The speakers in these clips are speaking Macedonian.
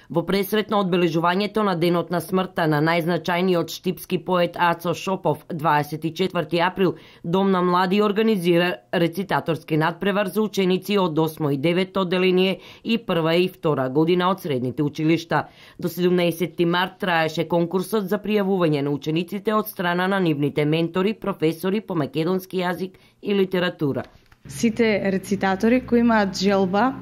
Во пресрет на одбележувањето на денот на смртта на најзначајниот штипски поет Ацо Шопов 24 април, Дом на млади организира рецитаторски надпревар за ученици од 8 и 9 одделение и прва и втора година од средните училишта. До 17 март траеше конкурсот за пријавување на учениците од страна на нивните ментори, професори по македонски јазик и литература. Сите рецитатори кои имаат желба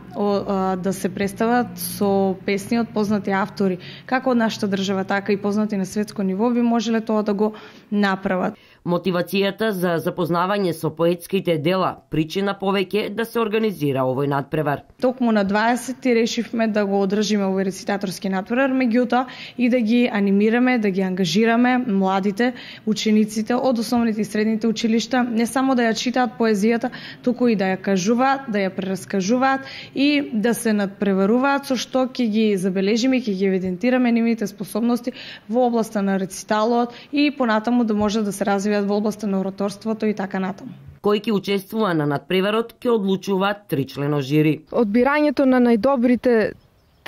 да се представат со песни од познати автори, како од нашата држава, така и познати на светско ниво, би можеле тоа да го направат. Мотивацијата за запознавање со поетските дела причина повеќе да се организира овој надпревар. Токму на 20 решивме да го одржиме овој рецитаторски надпревар, меѓутоа и да ги анимираме, да ги ангажираме младите, учениците од основните и средните училишта, не само да ја читаат поезијата, туку и да ја кажуваат, да ја прераскажуваат и да се надпреваруваат, со што ќе ги забележиме, ќе ги евидентираме нивните способности во областа на рециталот и понатаму да може да се развијат во областа на ораторството и така натаму. Кој ќе учествува на надпреварот ќе одлучуваат 3-члено жири. Одбирањето на најдобрите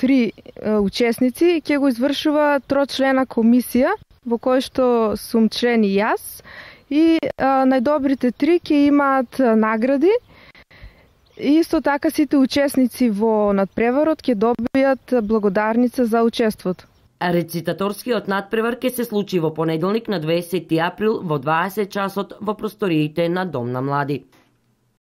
3 учесници ќе го извршува 3-члена комисија, во кој што сум член и јас, и најдобрите 3 ќе имаат награди. И исто така сите учесници во надпреварот ќе добијат благодарница за учеството. Рецитаторскиот надпревар ќе се случи во понеделник на 20 април во 20 часот во просториите на Дом на млади.